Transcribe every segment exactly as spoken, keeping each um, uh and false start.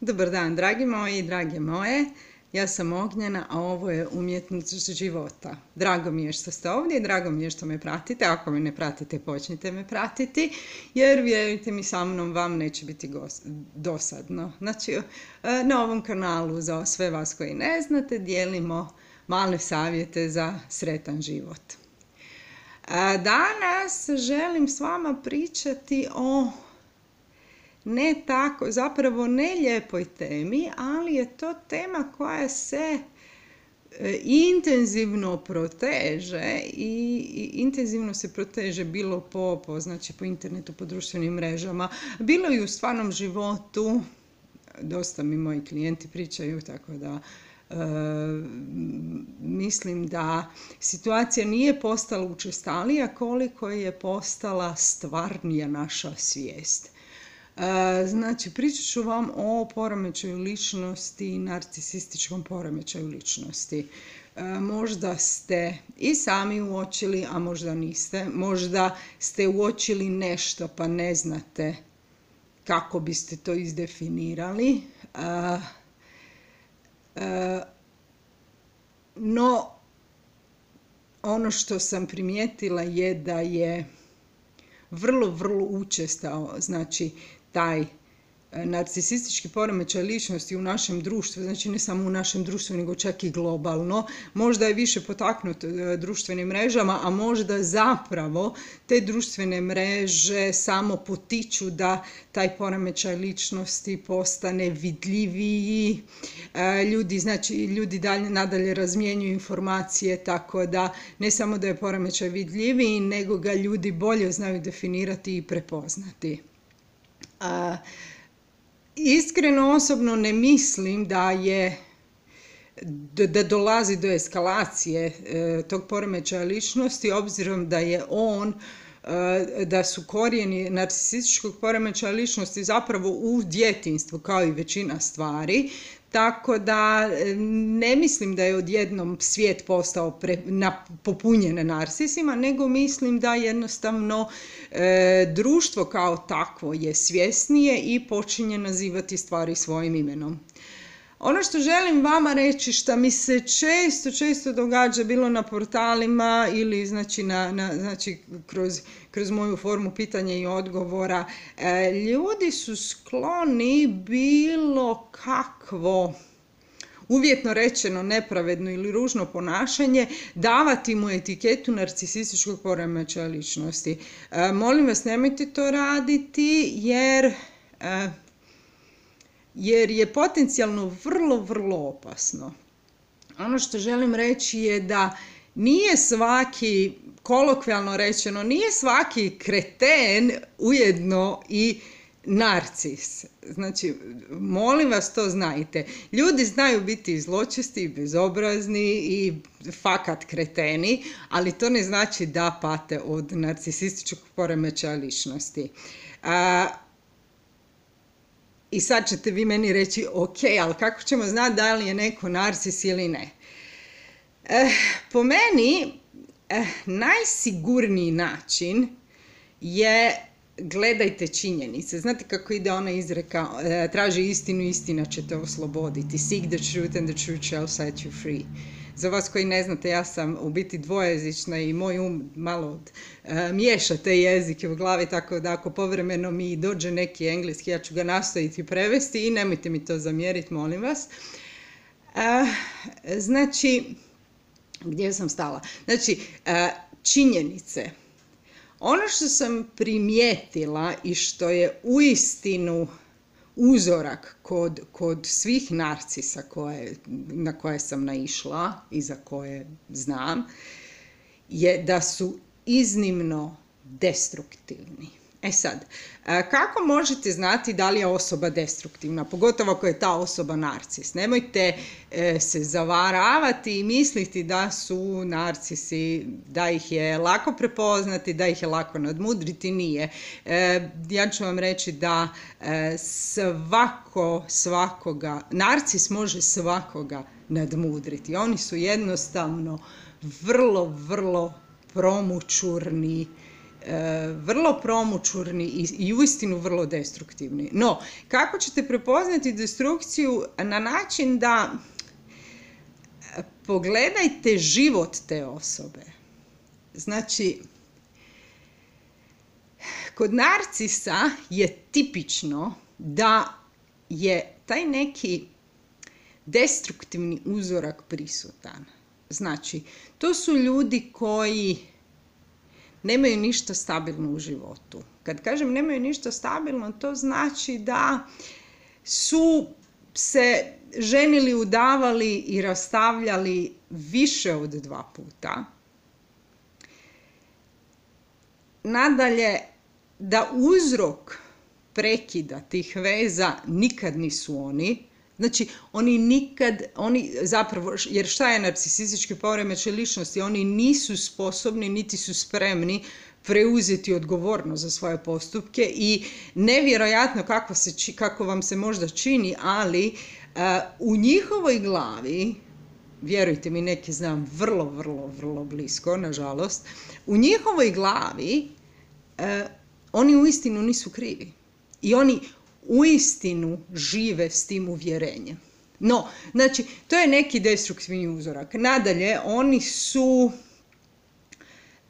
Dobar dan, dragi moji i drage moje. Ja sam Ognjena, a ovo je Umjetnost života. Drago mi je što ste ovdje i drago mi je što me pratite. Ako me ne pratite, počnite me pratiti, jer vjerujte mi, sa mnom vam neće biti dosadno. Znači, na ovom kanalu, za sve vas koji ne znate, dijelimo male savjete za sretan život. Danas želim s vama pričati o ne tako, zapravo ne lijepoj temi, ali je to tema koja se intenzivno proteže i, i intenzivno se proteže bilo po, po, znači po internetu, po društvenim mrežama, bilo i u stvarnom životu. Dosta mi moji klijenti pričaju, tako da e, mislim da situacija nije postala učestalija koliko je postala stvarnija naša svijest. Znači, pričat ću vam o poremećaju ličnosti i narcisističkom poremećaju ličnosti. Možda ste i sami uočili, a možda niste. Možda ste uočili nešto pa ne znate kako biste to izdefinirali. No, ono što sam primijetila je da je vrlo, vrlo učestao, znači, taj narcisistički poremećaj ličnosti u našem društvu, znači ne samo u našem društvu, nego čak i globalno. Možda je više potaknut društvenim mrežama, a možda zapravo te društvene mreže samo potiču da taj poremećaj ličnosti postane vidljiviji. Ljudi, znači, ljudi dalje, nadalje razmjenjuju informacije, tako da ne samo da je poremećaj vidljiviji, nego ga ljudi bolje znaju definirati i prepoznati. A, iskreno, osobno ne mislim da je da, da dolazi do eskalacije e, tog poremećaja ličnosti, obzirom da je on e, da su korijeni narcisističkog poremećaja ličnosti zapravo u djetinjstvu, kao i većina stvari. Tako da ne mislim da je odjednom svijet postao pre, na, popunjen narcisima, nego mislim da jednostavno e, društvo kao takvo je svjesnije i počinje nazivati stvari svojim imenom. Ono što želim vama reći, što mi se često, često događa, bilo na portalima ili znači, na, na, znači kroz, kroz moju formu pitanja i odgovora, e, ljudi su skloni bilo kakvo, uvjetno rečeno nepravedno ili ružno ponašanje, davati mu etiketu narcisističkog poremećaja ličnosti. E, molim vas, nemojte to raditi, jer... E, jer je potencijalno vrlo, vrlo opasno. Ono što želim reći je da nije svaki, kolokvijalno rečeno, nije svaki kreten ujedno i narcis. Znači, molim vas, to znajte. Ljudi znaju biti zločesti, bezobrazni i fakat kreteni, ali to ne znači da pate od narcisističkog poremećaja ličnosti. A, I sad ćete vi meni reći, ok, ali kako ćemo znati da li je neko narcis ili ne? Eh, po meni, eh, najsigurniji način je gledajte činjenice. Znate kako ide ona izreka, eh, traži istinu, istina će te osloboditi. Seek the truth and the truth shall set you free. Za vas koji ne znate, ja sam u biti dvojezična i moj um malo e, miješa te jezike u glavi, tako da ako povremeno mi dođe neki engleski, ja ću ga nastojiti prevesti i nemojte mi to zamjeriti, molim vas. E, znači, gdje sam stala? Znači, e, činjenice. Ono što sam primijetila i što je uistinu uzorak kod, kod svih narcisa koje, na koje sam naišla i za koje znam, je da su iznimno destruktivni. E sad, kako možete znati da li je osoba destruktivna, pogotovo ako je ta osoba narcis? Nemojte se zavaravati i misliti da su narcisi, da ih je lako prepoznati, da ih je lako nadmudriti, nije. Ja ću vam reći da svako, svakoga, narcis može svakoga nadmudriti. Oni su jednostavno vrlo, vrlo promućurni vrlo promućurni i, i uistinu vrlo destruktivni. No, kako ćete prepoznati destrukciju? Na način da pogledajte život te osobe. Znači, kod narcisa je tipično da je taj neki destruktivni uzorak prisutan. Znači, to su ljudi koji nemaju ništa stabilno u životu. Kad kažem nemaju ništa stabilno, to znači da su se ženili, udavali i rastavljali više od dva puta. Nadalje, da uzrok prekida tih veza nikad nisu oni. Znači, oni nikad, oni zapravo, jer šta je narcisistički poremećaj ličnosti? Oni nisu sposobni, niti su spremni preuzeti odgovornost za svoje postupke i nevjerojatno kako, se, kako vam se možda čini, ali uh, u njihovoj glavi, vjerujte mi, neki znam vrlo, vrlo, vrlo blisko, nažalost, u njihovoj glavi uh, oni uistinu nisu krivi. I oni uistinu žive s tim uvjerenjem. No, znači, to je neki destruktivni uzorak. Nadalje, oni su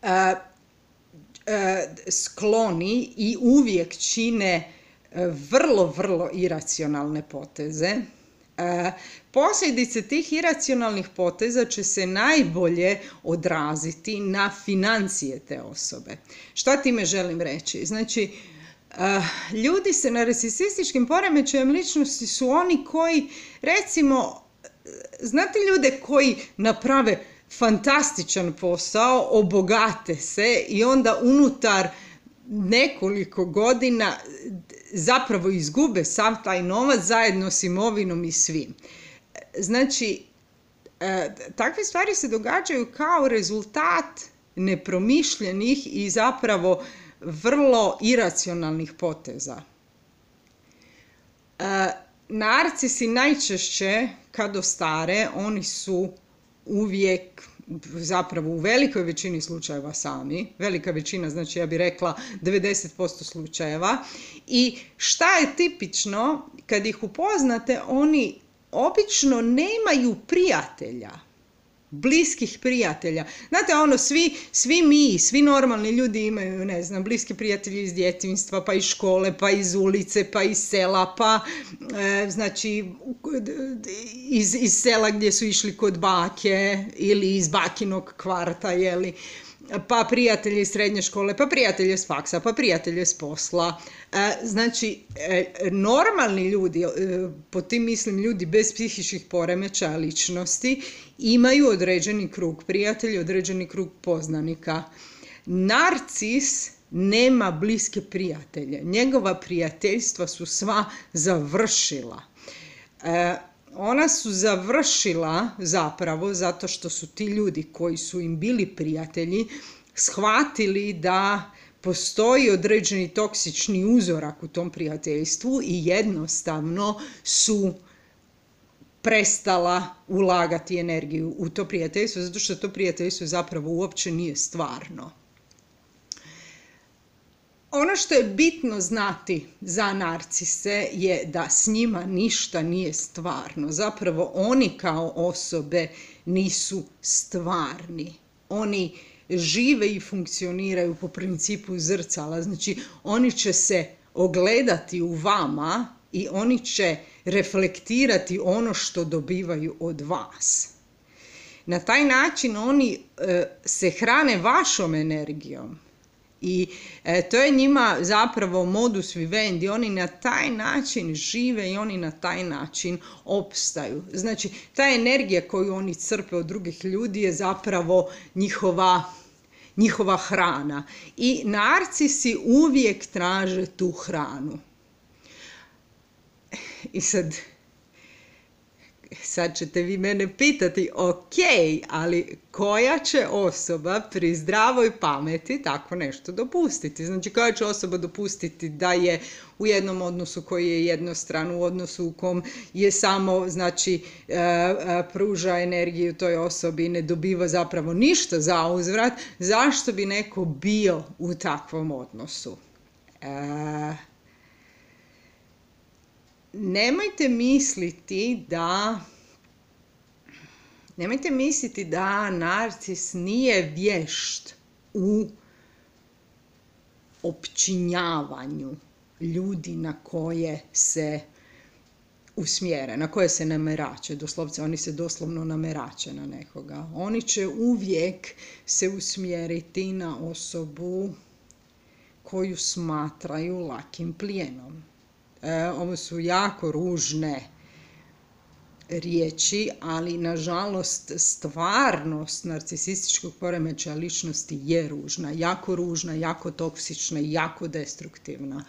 uh, uh, skloni i uvijek čine uh, vrlo, vrlo iracionalne poteze. Uh, posljedice tih iracionalnih poteza će se najbolje odraziti na financije te osobe. Šta time želim reći? Znači, Uh, ljudi sa narcisističkim poremećajem ličnosti su oni koji, recimo, znate ljude koji naprave fantastičan posao, obogate se i onda unutar nekoliko godina zapravo izgube sav taj novac zajedno s imovinom i svim. Znači, uh, takve stvari se događaju kao rezultat nepromišljenih i zapravo vrlo iracionalnih poteza. E, narcisi najčešće, kad ostare, oni su uvijek, zapravo u velikoj većini slučajeva sami, velika većina, znači ja bih rekla devedeset posto slučajeva. I šta je tipično, kad ih upoznate, oni obično nemaju prijatelja. Bliskih prijatelja. Znate, ono, svi, svi mi, svi normalni ljudi imaju, ne znam, bliski prijatelji iz djetinjstva, pa iz škole, pa iz ulice, pa iz sela, pa, e, znači, iz, iz sela gdje su išli kod bake ili iz bakinog kvarta, jeli, pa prijatelji iz srednje škole, pa prijatelji s faksa, pa prijatelji s posla. E, znači, e, normalni ljudi, e, po tim mislim ljudi bez psihičkih poremećaja ličnosti, imaju određeni krug prijatelja, određeni krug poznanika. Narcis nema bliske prijatelje. Njegova prijateljstva su sva završila. E, Ona su završila zapravo zato što su ti ljudi koji su im bili prijatelji shvatili da postoji određeni toksični uzorak u tom prijateljstvu i jednostavno su prestala ulagati energiju u to prijateljstvo, zato što to prijateljstvo zapravo uopće nije stvarno. Ono što je bitno znati za narcise je da s njima ništa nije stvarno. Zapravo oni kao osobe nisu stvarni. Oni žive i funkcioniraju po principu zrcala. Znači, oni će se ogledati u vama i oni će reflektirati ono što dobivaju od vas. Na taj način oni e, se hrane vašom energijom. I e, to je njima zapravo modus vivendi, oni na taj način žive i oni na taj način opstaju. Znači, ta energija koju oni crpe od drugih ljudi je zapravo njihova, njihova hrana. I narcisi uvijek traže tu hranu. I sad, sad ćete vi mene pitati, ok, ali koja će osoba pri zdravoj pameti tako nešto dopustiti? Znači, koja će osoba dopustiti da je u jednom odnosu koji je jednostran, u odnosu u kom je samo, znači, pruža energiju toj osobi i ne dobiva zapravo ništa za uzvrat, zašto bi neko bio u takvom odnosu? E, nemojte misliti da nemojte misliti da narcis nije vješt u opčinjavanju ljudi na koje se usmjere, na koje se namerače. Doslovce, oni se doslovno namerače na nekoga. Oni će uvijek se usmjeriti na osobu koju smatraju lakim plijenom. E, ovo su jako ružne riječi, ali nažalost stvarnost narcisističkog poremećaja ličnosti je ružna, jako ružna, jako toksična i jako destruktivna.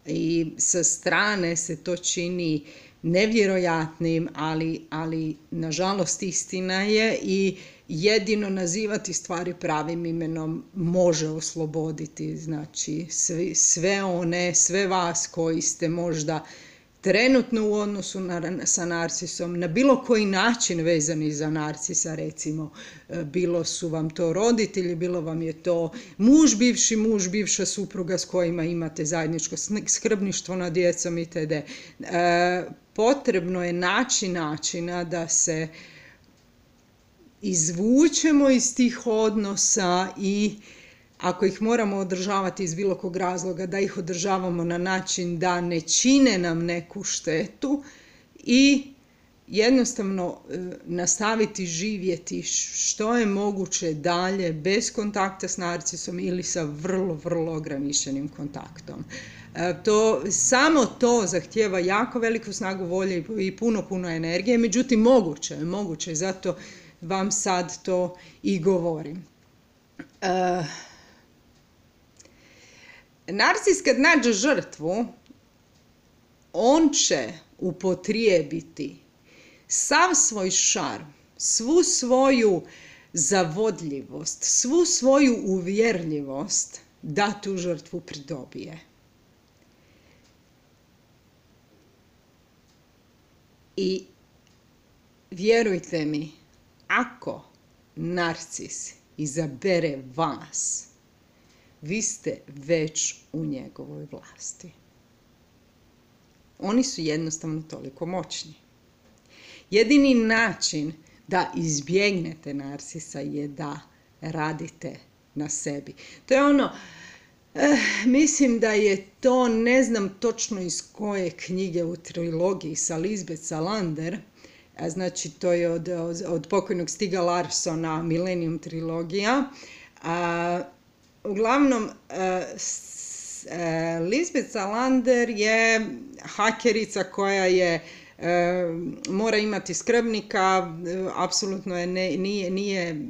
I sa strane se to čini nevjerojatnim, ali, ali nažalost istina je i jedino nazivati stvari pravim imenom može osloboditi, znači sve, sve one, sve vas koji ste možda trenutno u odnosu na, sa narcisom, na bilo koji način vezani za narcisa, recimo, bilo su vam to roditelji, bilo vam je to muž, bivši muž, bivša supruga s kojima imate zajedničko skrbništvo nad djecom itd. E, potrebno je naći načina da se izvučemo iz tih odnosa i ako ih moramo održavati iz bilo kog razloga, da ih održavamo na način da ne čine nam neku štetu i jednostavno nastaviti živjeti što je moguće dalje bez kontakta s narcisom ili sa vrlo, vrlo ograničenim kontaktom. To, samo to zahtijeva jako veliku snagu volje i puno, puno energije, međutim moguće je, moguće je, zato vam sad to i govorim. Uh, Narcis kad nađe žrtvu, on će upotrijebiti sav svoj šarm, svu svoju zavodljivost, svu svoju uvjerljivost da tu žrtvu pridobije. I vjerujte mi, ako narcis izabere vas, vi ste već u njegovoj vlasti. Oni su jednostavno toliko moćni. Jedini način da izbjegnete narcisa je da radite na sebi. To je ono, eh, mislim da je to, ne znam točno iz koje knjige u trilogiji sa Lisbeth Salander, a znači to je od, od, od pokojnog Stiga Larssona, Millennium trilogija. A, uglavnom, a, s, a, Lisbeth Salander je hakerica koja je a, mora imati skrbnika, apsolutno je ne, nije, nije,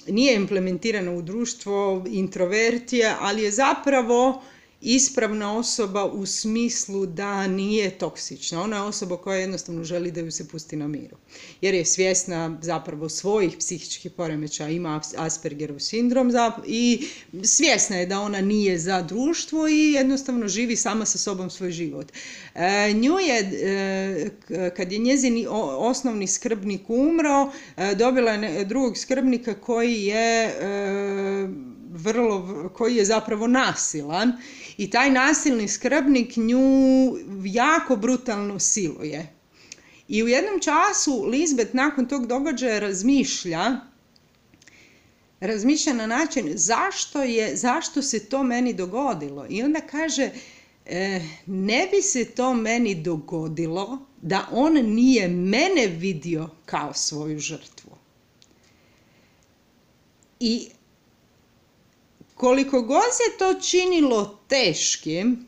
nije implementirana u društvo, introvert je, ali je zapravo ispravna osoba u smislu da nije toksična. Ona je osoba koja jednostavno želi da ju se pusti na miru. Jer je svjesna zapravo svojih psihičkih poremećaja, ima Aspergerov sindrom i svjesna je da ona nije za društvo i jednostavno živi sama sa sobom svoj život. E, nju je, e, kad je njezin osnovni skrbnik umro, e, dobila je drugog skrbnika koji je e, vrlo, koji je zapravo nasilan i taj nasilni skrbnik nju jako brutalno siluje. I u jednom času Lisbeth nakon tog događaja razmišlja, razmišlja na način zašto, je, zašto se to meni dogodilo. I onda kaže, e, ne bi se to meni dogodilo da on nije mene vidio kao svoju žrtvu. I koliko god se to činilo teškim,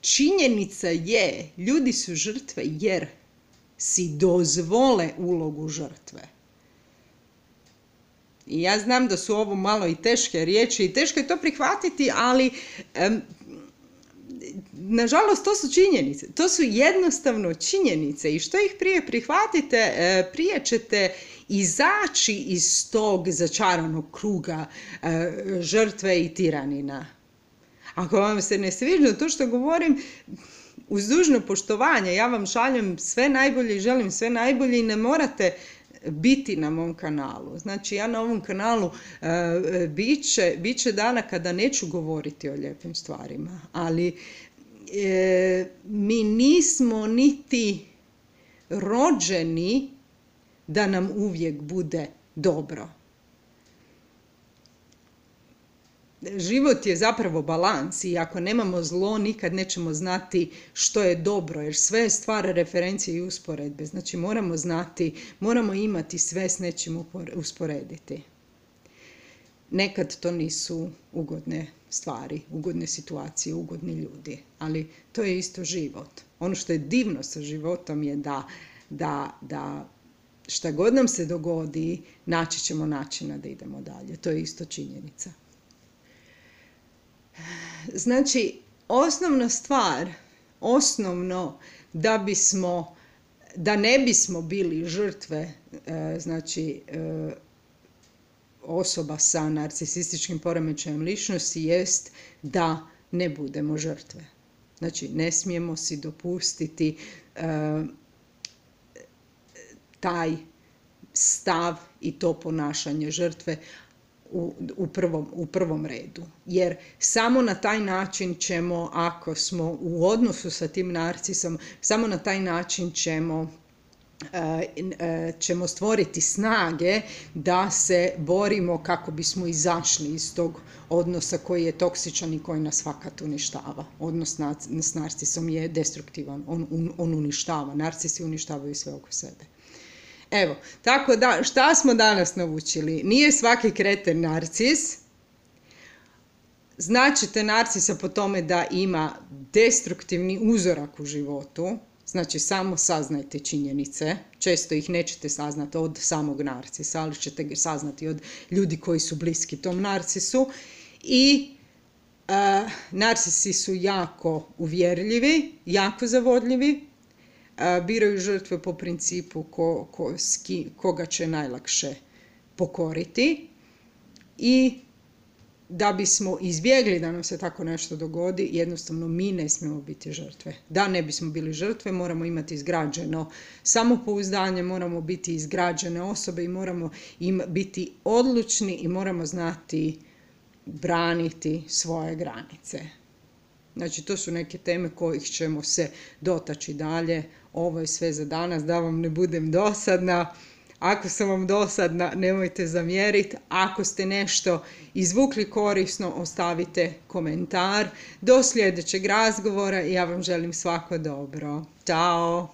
činjenica je, ljudi su žrtve jer si dozvole ulogu žrtve. I ja znam da su ovo malo i teške riječi i teško je to prihvatiti, ali um, nažalost, to su činjenice. To su jednostavno činjenice i što ih prije prihvatite, prije ćete izaći iz tog začaranog kruga žrtve i tiranina. Ako vam se ne sviđa to što govorim, uz dužno poštovanje, ja vam šaljem sve najbolje i želim sve najbolje i ne morate biti na mom kanalu. Znači, ja na ovom kanalu uh, bit će, bit će dana kada neću govoriti o lijepim stvarima, ali e, mi nismo niti rođeni da nam uvijek bude dobro. Život je zapravo balans i ako nemamo zlo, nikad nećemo znati što je dobro, jer sve je stvar referencije i usporedbe. Znači moramo znati, moramo imati sve s nečim usporediti. Nekad to nisu ugodne stvari, ugodne situacije, ugodni ljudi, ali to je isto život. Ono što je divno sa životom je da, da, da šta god nam se dogodi, naći ćemo načina da idemo dalje. To je isto činjenica. Znači, osnovna stvar, osnovno da bismo, da ne bismo bili žrtve, znači, osoba sa narcisističkim poremećajem ličnosti jest da ne budemo žrtve. Znači, ne smijemo si dopustiti taj stav i to ponašanje žrtve U, u, prvom, u prvom redu. Jer samo na taj način ćemo, ako smo u odnosu sa tim narcisom, samo na taj način ćemo, uh, uh, ćemo stvoriti snage da se borimo kako bismo izašli iz tog odnosa koji je toksičan i koji nas fakat uništava. Odnos na, s narcisom je destruktivan, on, on, on uništava. Narcisi uništavaju sve oko sebe. Evo, tako da, šta smo danas naučili? Nije svaki kreten narcis. Značite narcisa po tome da ima destruktivni uzorak u životu. Znači, samo saznajte činjenice. Često ih nećete saznati od samog narcisa, ali ćete ga saznati od ljudi koji su bliski tom narcisu. I uh, narcisi su jako uvjerljivi, jako zavodljivi. Biraju žrtve po principu ko, ko, ski, koga će najlakše pokoriti i da bismo izbjegli da nam se tako nešto dogodi, jednostavno mi ne smijemo biti žrtve. Da ne bismo bili žrtve, moramo imati izgrađeno samopouzdanje, moramo biti izgrađene osobe i moramo im biti odlučni i moramo znati braniti svoje granice. Znači, to su neke teme kojih ćemo se dotaći dalje. Ovo je sve za danas, da vam ne budem dosadna. Ako sam vam dosadna, nemojte zamjeriti. Ako ste nešto izvukli korisno, ostavite komentar. Do sljedećeg razgovora i ja vam želim svako dobro. Ćao!